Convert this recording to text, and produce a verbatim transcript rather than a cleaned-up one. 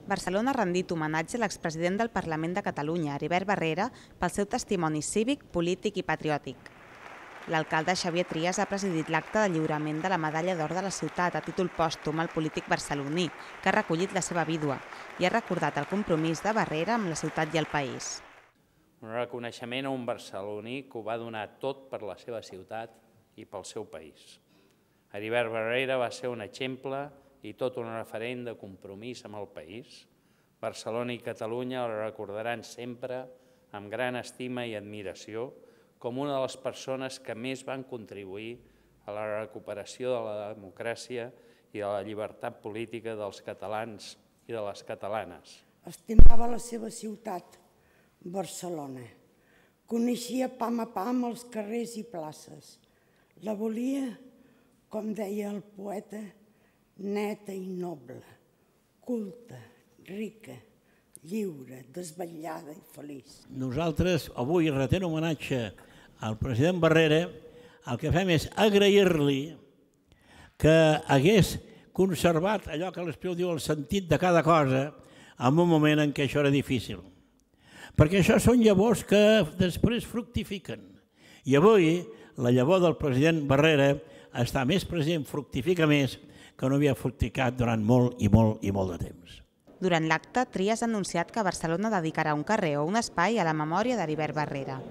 Barcelona ha rendit homenatge a l'expresident del Parlament de Catalunya, Heribert Barrera, pel seu testimoni cívic, polític i patriòtic. L'alcalde Xavier Trias ha presidit l'acte de lliurament de la Medalla d'Or de la ciutat a títol pòstum al polític barceloní, que ha recollit la seva vídua, i ha recordat el compromís de Barrera amb la ciutat i el país. Un reconeixement a un barceloní que ho va donar tot per la seva ciutat i pel seu país. Heribert Barrera va ser un exemple i tot un referent de compromís amb el país. Barcelona i Catalunya el recordaran sempre amb gran estima i admiració com una de les persones que més van contribuir a la recuperació de la democràcia i de la llibertat política dels catalans i de les catalanes. Estimava la seva ciutat, Barcelona. Coneixia pam a pam els carrers i places. La volia, com deia el poeta, neta i noble, culta, rica, lliure, desvetllada i feliç. Nosaltres, avui, retent homenatge al president Barrera, el que fem és agrair-li que hagués conservat allò que l'Espriu diu el sentit de cada cosa en un moment en què això era difícil. Perquè això són llavors que després fructifiquen. I avui la llavor del president Barrera està més present, fructifica més, que no havia fructificat durant molt i molt i molt de temps. Durant l'acte, Trias ha anunciat que Barcelona dedicarà un carrer o un espai a la memòria d'Heribert Barrera.